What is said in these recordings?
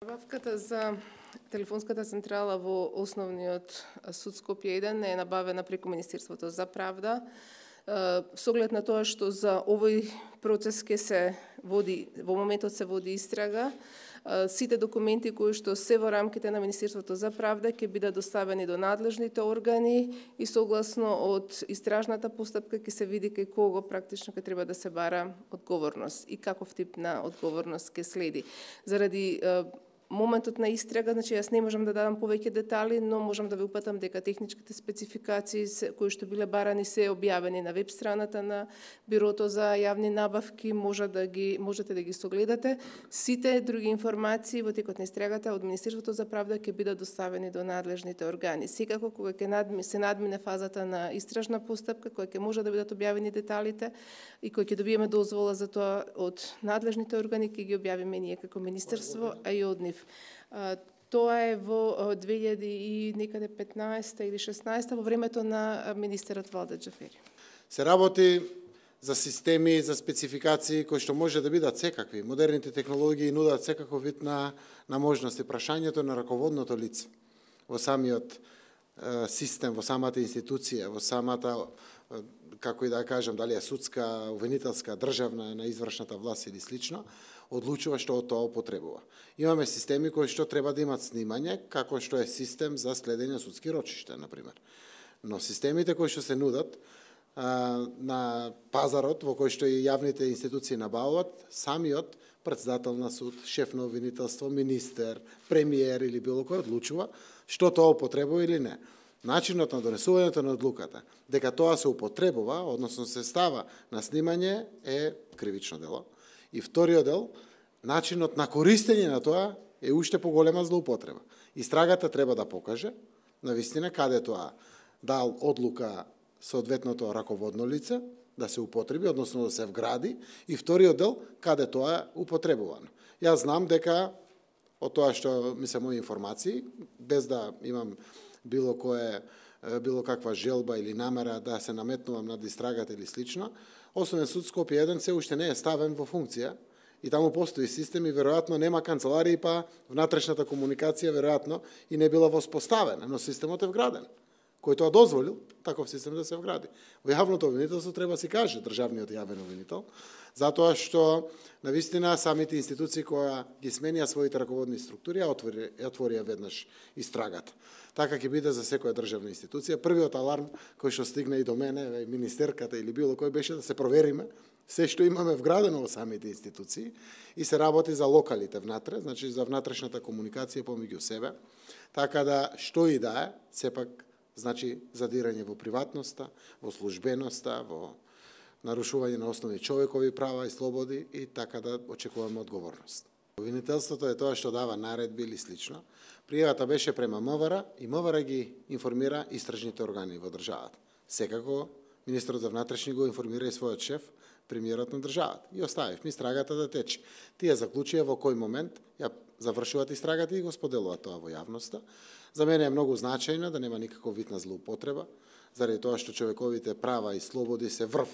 Набавката за телефонската централа во Основниот суд Скопје 1 е набавена преку Министерството за правда. Со оглед на тоа што за овој процес ќе се води, во моментот се води истрага, сите документи кои што се во рамките на Министерството за правда ќе бидат доставени до надлежните органи и согласно од истражната постапка ќе се види кај кого практично ќе треба да се бара одговорност и каков тип на одговорност ќе следи. Заради моментот на истрага, значи јас не можам да дадам повеќе детали, но можам да ви упатам дека техничките спецификации кои што биле барани се објавени на веб страната на Бирото за јавни набавки, можете да ги согледате. Сите други информации во текот на истрагата од Министерството за правда ќе бидат доставени до надлежните органи. Секако кога ќе се надмине фазата на истражна постапка, која ќе може да бидат објавени деталите и кој ќе добиеме дозвола за тоа од надлежните органи, ќе ги објавиме ние како министерство, а и од нив. Тоа е во 2015 или 16 во времето на министерот Валда Џафери. Се работи за системи, за спецификации кои што може да бидат секакви. Модерните технологии нудат секаков вид на можности. Прашањето на раководното лице во самиот систем, во самата институција, во самата, како и да кажам, дали е судска, обвинителска, државна, на извршната власт или слично, одлучува што од тоа употребува. Имаме системи кои што треба да имат снимање, како што е систем за следење судски рочишта, например. Но системите кои што се нудат на пазарот, во кој што и јавните институции набавуваат, самиот претседател на суд, шеф на обвинителство, министер, премиер или било кој одлучува што тоа употребува или не. Начинот на донесувањето на одлуката, дека тоа се употребува, односно се става на снимање, е кривично дело. И вториот дел, начинот на користење на тоа е уште поголема злоупотреба. Истрагата треба да покаже, навистина, каде тоа дал одлука соодветното раководно лице, да се употреби, односно да се вгради, и вториот дел, каде тоа е употребувано. Јас знам дека, од тоа што ми се мои информации, без да имам било каква желба или намера да се наметнувам над истрагата или слично, Основен суд Скопје 1 се уште не е ставен во функција и таму постои систем и веројатно нема канцеларии, па внатрешната комуникација веројатно и не била воспоставена, но системот е вграден. Кој тоа дозволил таков систем да се вгради. Во јавното обвинителство треба се каже државниот јавен обвинител, затоа што навистина самите институции кои ги сменија своите раководни структури отворија веднаш истрагата. Така ќе биде за секоја државна институција. Првиот аларм кој што стигна и до мене, министерката или било кој, беше да се провериме се што имаме вградено во самите институции и се работи за локалите внатре, значи за внатрешната комуникација помеѓу себе, така да што и да е, сепак значи задирање во приватноста, во службеноста, во нарушување на основни човекови права и слободи и така да очекуваме одговорност. Обвинителството е тоа што дава наредби или слично. Пријавата беше према МВР и МВР ги информира истражните органи во државата. Секако, министерот за внатрешни го информира и својот шеф, премиерот на државата. И оставивме истрагата да тече. Тие заклучија во кој момент ја завршуваат истрагата и го споделуваат тоа во јавноста. За мене е многу значајно да нема никаков вид на злоупотреба, заради тоа што човековите права и слободи се врв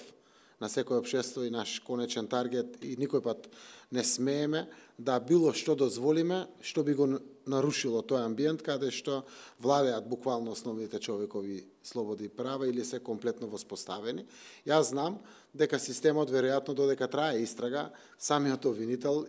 на секој општество и наш конечен таргет и никој пат не смееме да било што дозволиме што би го нарушило тој амбиент каде што владеат буквално основните човекови слободи и права или се комплетно воспоставени. Јас знам дека системот веројатно додека трае истрага, самиот обвинител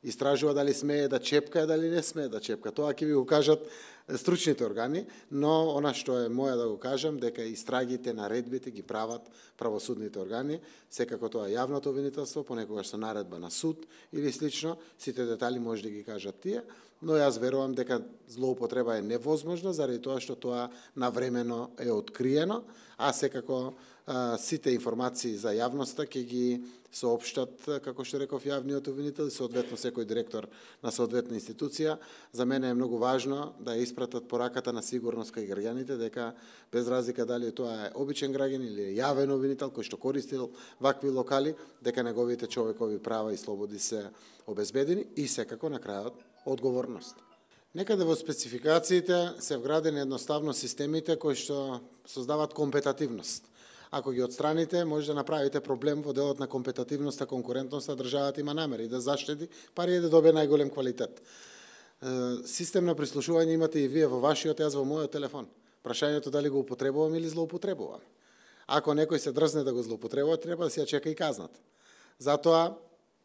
истражува дали смее да чепка, дали не смее да чепка. Тоа ќе ви го кажат стручните органи, но она што е моја да го кажам, дека истрагите, наредбите ги прават правосудните органи, секако тоа јавното обвинителство, понекогаш со наредба на суд или слично, сите детали може да ги кажат тие, но јас верувам дека злоупотреба е невозможна, заради тоа што тоа навремено е откриено, а секако сите информации за јавноста ќе ги соопштат, како што реков, јавниот обвинител и соодветно секој директор на соодветна институција. За мене е многу важно да ја испратат пораката на сигурност кај граѓаните, дека без разлика дали тоа е обичен граѓанин или е јавен обвинител кој што користил вакви локали, дека неговите човекови права и слободи се обезбедени и секако на крајот одговорност. Некаде во спецификациите се вградени едноставно системите кои што создаваат компетативност. Ако ги отстраните, може да направите проблем во делот на компетативноста, конкурентноста, државата има намери да заштеди пари и да добие најголем квалитет. Систем на прислушување имате и вие во вашиот, јас во мојот телефон. Прашањето дали го употребувам или злоупотребувам. Ако некој се дрзне да го злоупотребува, треба да се ја чека и казната. Затоа,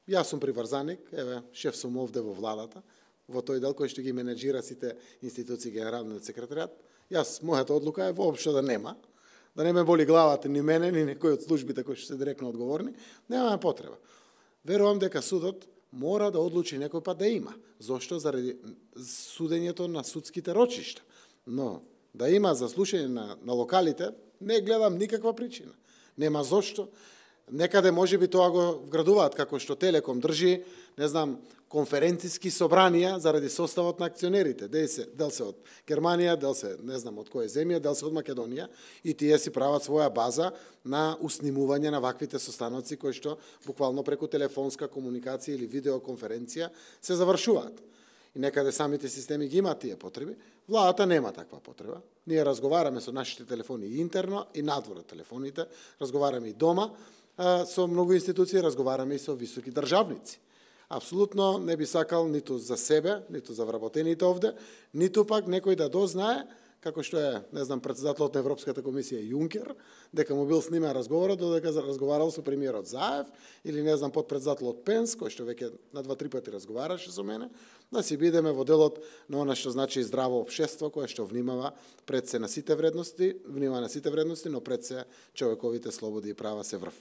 јас сум приврзаник, еве, шеф сум овде во владата, во тој дел кој што ги менеджира сите институции, генералниот секретаријат. Јас, мојата одлука е воопшто да нема, да не ме боли главата ни мене, ни некој од службите кои што се директно одговорни, немаме потреба. Верувам дека судот мора да одлучи некој пат да има. Зошто? Заради судењето на судските рочишта. Но да има за слушање на локалите, не гледам никаква причина. Нема зошто. Некаде можеби тоа го вградуваат, како што Телеком држи, не знам, конференциски собранија заради составот на акционерите. Дел се од Германија, дел се, не знам од која земја, дел се од Македонија, и тие си прават своја база на уснимување на ваквите состаноци кои што буквално преку телефонска комуникација или видеоконференција се завршуваат. И некаде самите системи ги имаат тие потреби. Владата нема таква потреба. Ние разговараме со нашите телефони и интерно и надвор од телефоните, разговараме и дома, со многу институции, разговараме и со високи државници. Апсолутно не би сакал ниту за себе, ниту за вработените овде, ниту пак некој да дознае, како што е, не знам, председателот на Европската комисија Јункер, дека му бил снимен разговорот, додека разговарал со премиерот Заев, или не знам, подпредседателот Пенс, кој што веќе на 2-3 пати разговараше со мене, да си бидеме во делот на она што значи здраво општество, кое што внимава пред се на сите вредности, но пред се човековите слободи и права се врв.